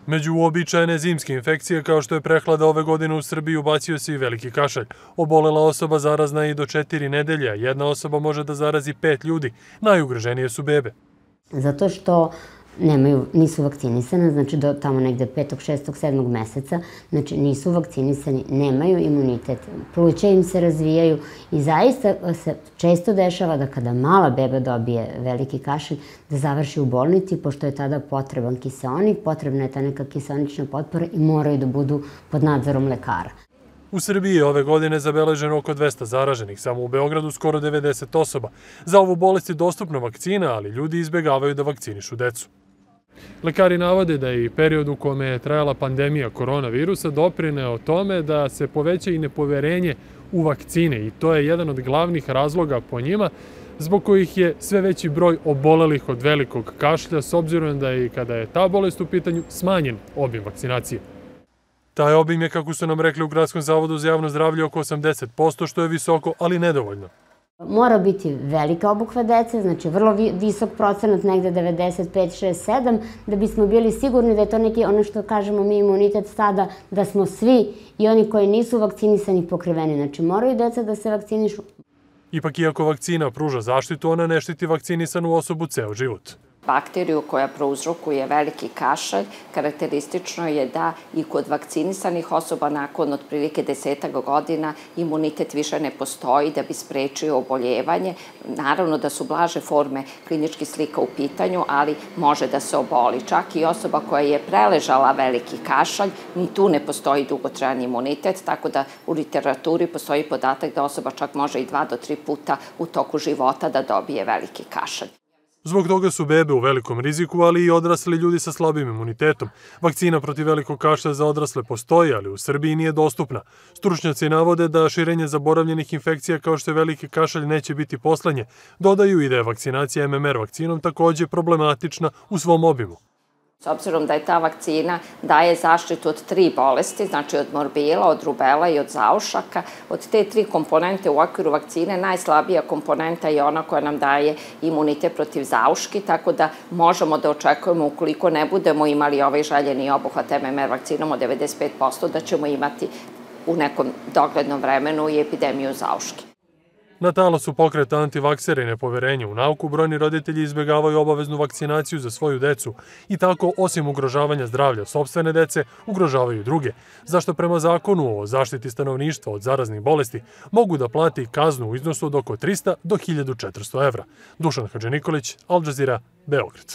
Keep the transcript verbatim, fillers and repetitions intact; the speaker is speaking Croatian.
Među uobičajene zimske infekcije kao što je prehlada ove godine u Srbiji ubacio se i veliki kašalj. Obolela osoba zarazna je i do četiri nedelje, a jedna osoba može da zarazi pet ljudi. Najugroženije su bebe. Zato što nemaju, nisu vakcinisane, znači do tamo negde petog, šestog, sedmog meseca, znači nisu vakcinisani, nemaju imunitet, pluća im se razvijaju i zaista se često dešava da kada mala beba dobije veliki kašalj, da završi u bolnici, pošto je tada potreban kiseonik, potrebna je ta neka kiseonična potpora i moraju da budu pod nadzorom lekara. U Srbiji je ove godine zabeleženo oko dvesta zaraženih, samo u Beogradu skoro devedeset osoba. Za ovu bolest je dostupna vakcina, ali ljudi izbegavaju da vakcinišu decu. Lekari navode da je i period u kome je trajala pandemija koronavirusa doprineo tome da se poveća i nepoverenje u vakcine i to je jedan od glavnih razloga po njima zbog kojih je sve veći broj obolelih od velikog kašlja s obzirom da je i kada je ta bolest u pitanju smanjen obim vakcinacije. Taj obim je, kako su nam rekli u Gradskom zavodu za javno zdravlje, oko osamdeset posto, što je visoko, ali nedovoljno. Mora biti velika obuhva dece, znači vrlo visok procenat, negde devedeset pet, šest, sedam, da bismo bili sigurni da je to neki, ono što kažemo mi, imunitet stada, da smo svi i oni koji nisu vakcinisani pokriveni. Znači moraju deca da se vakcinišu. Ipak, iako vakcina pruža zaštitu, ona ne štiti vakcinisanu osobu ceo život. Bakteriju koja prouzrokuje veliki kašalj, karakteristično je da i kod vakcinisanih osoba nakon otprilike desetak godina imunitet više ne postoji da bi sprečio oboljevanje. Naravno da su blaže forme kliničkih slika u pitanju, ali može da se oboli. Čak i osoba koja je preležala veliki kašalj, ni tu ne postoji dugotrajan imunitet, tako da u literaturi postoji podatak da osoba čak može i dva do tri puta u toku života da dobije veliki kašalj. Zbog toga su bebe u velikom riziku, ali i odrasli ljudi sa slabim imunitetom. Vakcina protiv velikog kašlja za odrasle postoji, ali u Srbiji nije dostupna. Stručnjaci navode da širenje zaboravljenih infekcija kao što je veliki kašalj neće biti poslednje. Dodaju i da je vakcinacija em em er vakcinom takođe problematična u svom obimu. S obzirom da je ta vakcina daje zaštitu od tri bolesti, znači od morbila, od rubela i od zaušaka, od te tri komponente u okviru vakcine najslabija komponenta je ona koja nam daje imunitet protiv zauški, tako da možemo da očekujemo, ukoliko ne budemo imali ovaj željeni obuhvat em em er vakcinom od devedeset pet posto, da ćemo imati u nekom doglednom vremenu i epidemiju zauški. Na talasu pokreta antivaksera i nepoverenja u nauku, brojni roditelji izbegavaju obaveznu vakcinaciju za svoju decu i tako, osim ugrožavanja zdravlja sopstvene dece, ugrožavaju druge, zašto prema zakonu o zaštiti stanovništva od zaraznih bolesti mogu da plati kaznu u iznosu od oko trista do hiljadu četiristo evra. Dušan Hadži Nikolić, Al Jazeera, Beograd.